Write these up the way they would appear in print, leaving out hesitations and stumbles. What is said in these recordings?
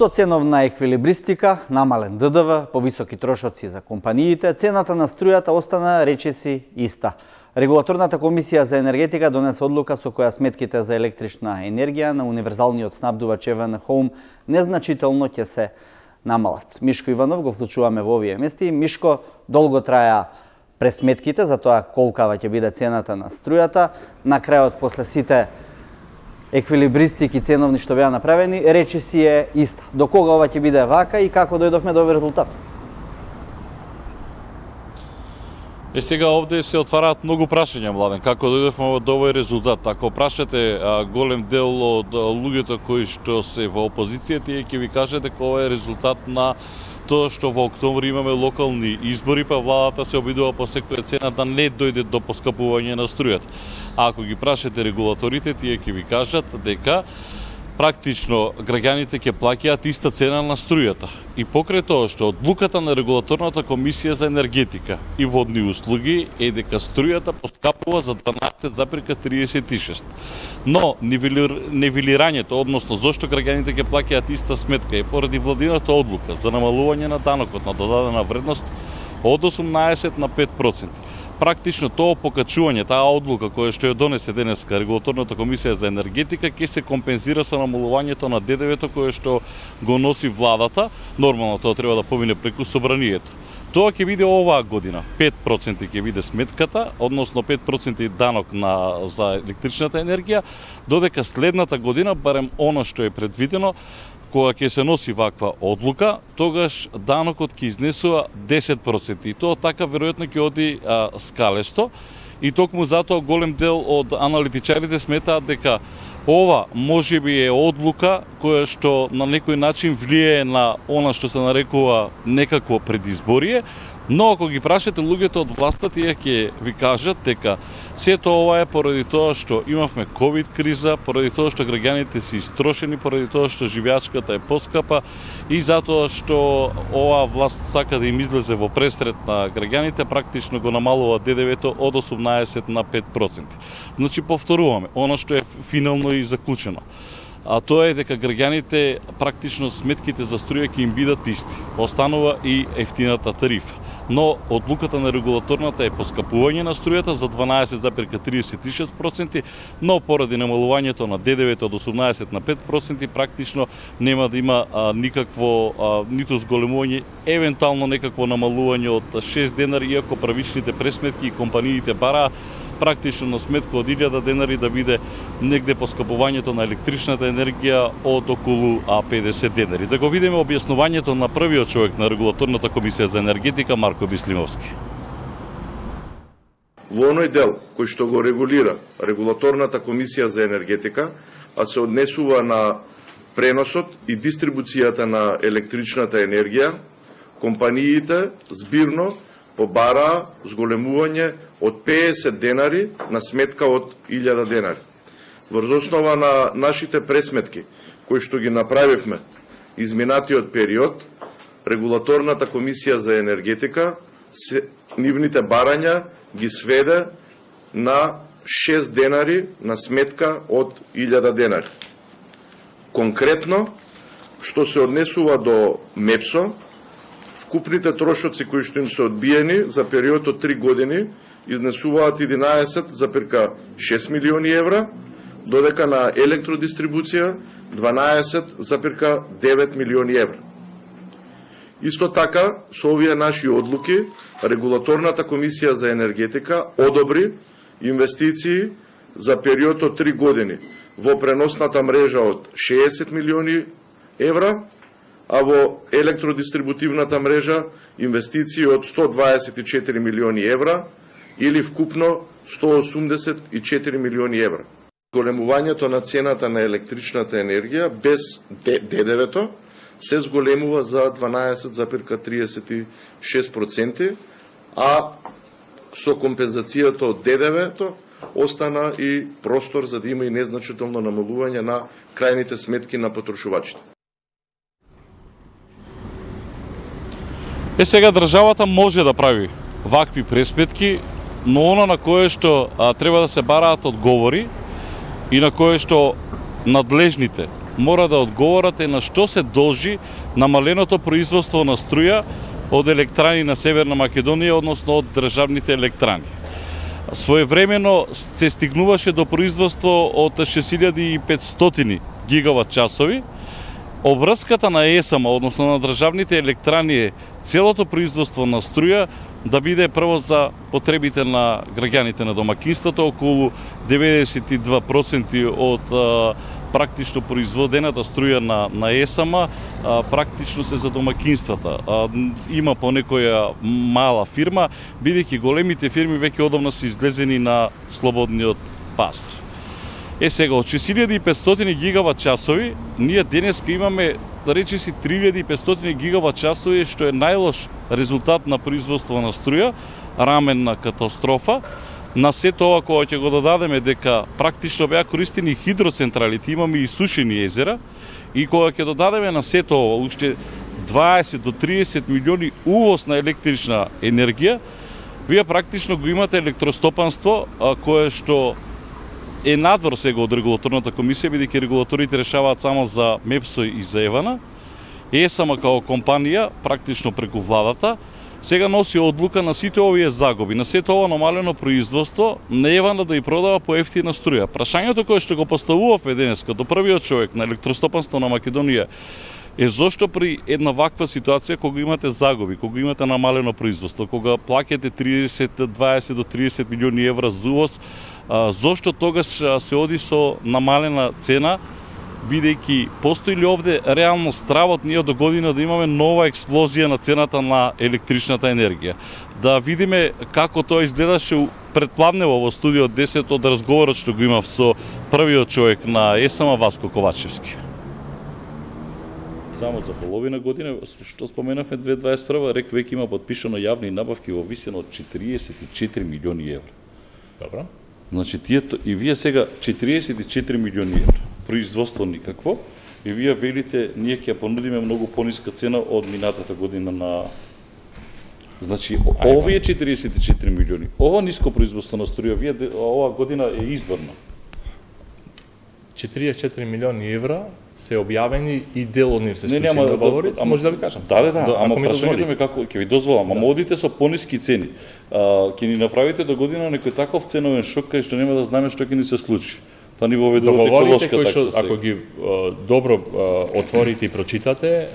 Со ценовна еквилибристика, намален ДДВ, повисоки трошоци за компаниите, цената на струјата остана речиси иста. Регулаторната комисија за енергетика донесе одлука со која сметките за електрична енергија на универзалниот снабдувач EVN Home незначително ќе се намалат. Мишко Иванов го вклучуваме во овие мести. Мишко, долго траја пресметките за тоа колкава ќе биде цената на струјата. На крајот, после сите еквилибристики ценовни што беа направени, речиси е иста. До кога ова ќе биде вака и како дојдовме до овој резултат? Сега овде се отвараат многу прашања, Младен, како дојдовме до овој резултат. Ако прашате голем дел од луѓето кои што се во опозиција, тие ќе ви кажат дека ова е резултат на тоа што во октомври имаме локални избори, па владата се обидува по секоја цена да не дојде до поскапување на струјата. А ако ги прашате регулаторите, тие ќе ви кажат дека практично граѓаните ќе плаќаат иста цена на струјата. И покрај тоа што одлуката на регулаторната комисија за енергетика и водни услуги е дека струјата поскапува за 12,36. Но нивелирањето, односно зошто граѓаните ќе плаќаат иста сметка е поради владината одлука за намалување на данокот на додадена вредност од 18 на 5%. Практично тоа покачување, таа одлука која што ја донесе денеска регулаторната комисија за енергетика ќе се компензира со намалувањето на ДДВ-то кое што го носи владата. Нормално тоа треба да помине преку собранието. Тоа ќе биде оваа година. 5% ќе биде сметката, односно 5% данок за електричната енергија, додека следната година, барем она што е предвидено, кога ќе се носи ваква одлука, тогаш данокот ќе изнесува 10%. И тоа така веројатно ќе оди скалесто. И токму затоа голем дел од аналитичарите сметаат дека ова можеби е одлука која што на некој начин влијае на она што се нарекува некакво предизборие, но ако ги прашате луѓето од власта, тие ќе ви кажат дека сето ова е поради тоа што имавме ковид криза, поради тоа што граѓаните се истрошени, поради тоа што живеачката е поскапа и затоа што оваа власт сака да им излезе во пресред на граѓаните, практично го намалува ДДВ-то од 18 на 5%. Значи, повторуваме, она што е финално и заклучено. А тоа е дека граѓаните практично сметките за струја ќе им бидат исти. Останува и ефтината тарифа. Но одлуката на регулаторната е поскапување на струјата за 12,36%, но поради намалувањето на ДДВ-то од 18 на 5% практично нема да има никакво ниту зголемување, евентуално некакво намалување од 6 денари, иако правичните пресметки и компаниите бараа практично на сметка од 1000 денари да биде негде поскапувањето на електричната енергија од околу 50 денари. Да го видиме објаснувањето на првиот човек на регулаторната комисија за енергетика, Марко Бислимовски. Во оној дел кој што го регулира регулаторната комисија за енергетика, а се однесува на преносот и дистрибуцијата на електричната енергија, компаниите збирно побараа зголемување од 50 денари на сметка од 1000 денари. Врз основа на нашите пресметки, кои што ги направивме изминатиот период, регулаторната комисија за енергетика нивните барања ги сведе на 6 денари на сметка од 1000 денари. Конкретно, што се однесува до МЕПСО, вкупните трошоци кои што им се одбиени за период од 3 години изнесуваат 11,6 милиони евра, додека на електродистрибуција 12,9 милиони евра. Исто така, со овие наши одлуки, регулаторната комисија за енергетика одобри инвестиции за период од 3 години во преносната мрежа од 60 милиони евра, а во електродистрибутивната мрежа инвестиции од 124 милиони евра или вкупно 184 милиони евра. Зголемувањето на цената на електричната енергија без ДДВ-то се зголемува за 12,36%, а со компензацијата од ДДВ-то остана и простор за да има и незначително намалување на крајните сметки на потрошувачите. Сега државата може да прави вакви пресметки, но оно на кое што треба да се бараат одговори и на кое што надлежните мора да одговорате на што се должи намаленото производство на струја од електрани на Северна Македонија, односно од државните електрани. Своевремено се стигнуваше до производство од 6500 гигават часови. Обврската на ЕСМ, односно на државните електрани, е целото производство на струја да биде прво за потребите на граѓаните на домакинството, околу 92% од практично производената струја на ЕСМ практично се за домакинствата. Има по некоја мала фирма, бидејќи големите фирми веќе одамна се излезени на слободниот пазар. Сега, од 6500 гигават часови, ние денеска имаме, да речеси, 3500 гигават часови, што е најлош резултат на производство на струја, раменна катастрофа. На сето ова, кога ќе го додадеме дека практично беа користени хидроцентралите, имаме и сушени езера, и кога ќе додадеме на сето ова уште 20 до 30 милиони увоз на електрична енергија, вие практично го имате електростопанство кое што е надвор сега од регулаторната комисија, бидејќи регулаторите решаваат само за МЕПСО и за ЕВАНА. ЕСМ као компанија, практично преку владата, сега носи одлука на сите овие загуби, на сето ова намалено производство, на ЕВАНА да ја продава по ефтина струја. Прашањето кое што го поставувавме денеска до првиот човек на електростопанство на Македонија е зошто при една ваква ситуација, кога имате загуби, кога имате намалено производство, кога плаќате 20 до 30 милиони евра за увоз, зошто тогаш се оди со намалена цена, бидејќи постои ли овде реално стравот ние до година да имаме нова експлозија на цената на електричната енергија. Да видиме како тоа изгледаше предпладнево во студио 10 од разговорот што го имав со првиот човек на ЕСМ Васко Ковачевски. Само за половина година, што споменавме 2021, РЕК веќе има подпишано јавни набавки во висина од 44 милиони евра. Добро. Значи, и вие сега 44 милиони евра, производство никакво, и вие велите, ние ќе понудиме многу пониска цена од минатата година на... Значи, овие 44 милиони, ова ниско производство на струја, вие ова година е изборна. 44 милиони евра се објавени и дел од нив се склучени договори, може да ви кажам. Да, ама прашањето ми како ќе ви дозволам, ама одите со пониски цени. Ќе ни направите до година некој таков ценовен шок кај што нема да знаеме што ќе ни се случи. Па ни воведувате еколошка такса. Ако ги добро отворите и прочитате,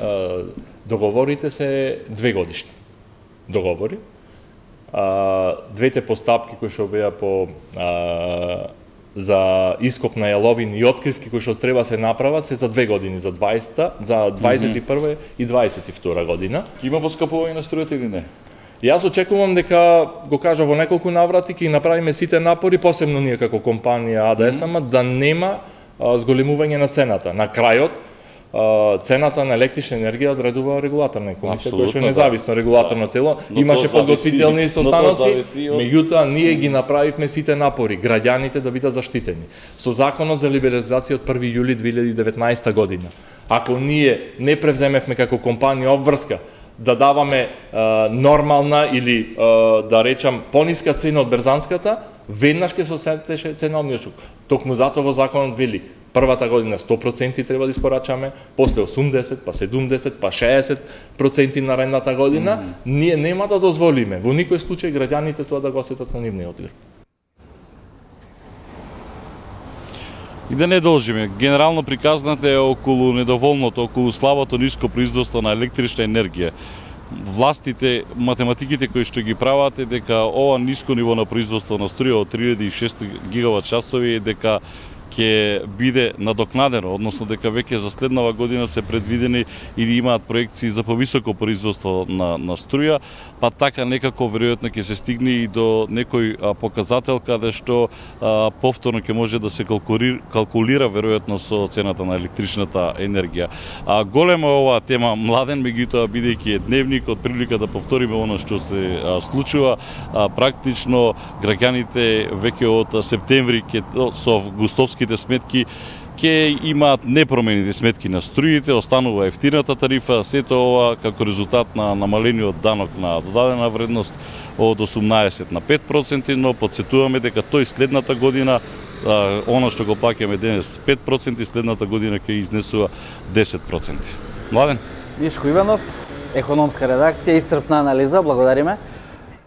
договорите се 2 годишни договори. Двете постапки кои што беа по за ископ на јаловини и откривки кои што треба се направат се за 2 години, за 21 и 22 година. Има поскапување на струјата или не? Јас очекувам дека, го кажа во неколку наврати, ќе направиме сите напори, посебно ние како компанија АДСМ, да нема зголемување на цената. На крајот, цената на електрична енергија одредува регулаторна комисија, која што е независно регулаторно тело, имаше подготвителни состаноци, меѓутоа ние ги направивме сите напори, граѓаните да бидат заштитени. Со законот за либерализација од 1 јули 2019 година. Ако ние не превземевме како компанија обврска да даваме нормална или да речам пониска цена од берзанската, веднаш ќе се осетеше ценовниот шок. Токму затоа во законот вели првата година 100% треба да испорачаме, после 80, па 70, па 60% наредната година, ние нема да дозволиме во никој случај граѓаните тоа да го осетат на нивниот одбир. И да не должиме, генерално приказната е околу недоволното, околу слабото ниско производство на електрична енергија. Властите, математиките кои што ги прават е дека ова ниско ниво на производство на струја од 3600 гигават часови е дека ќе биде надокнадено, односно дека веќе за следнава година се предвидени или имаат проекции за повисоко производство на струја, па така некако веројатно ќе се стигне и до некој показател каде што повторно ќе може да се калкулира веројатно со цената на електричната енергија. Голема оваа тема, Младен, меѓутоа бидејќи е дневник, од прилика да повториме оно што се случува, практично граѓаните веќе од септември со августовски сметки ќе имаат непромените сметки на струите, останува ефтината тарифа, сето ова како резултат на намалениот данок на додадена вредност од 18 на 5%, но подсетуваме дека тој следната година Оно што го плаќаме денес 5%, следната година ќе изнесува 10%. Младен? Мишко Иванов, економска редакција, исцрпна анализа, благодариме.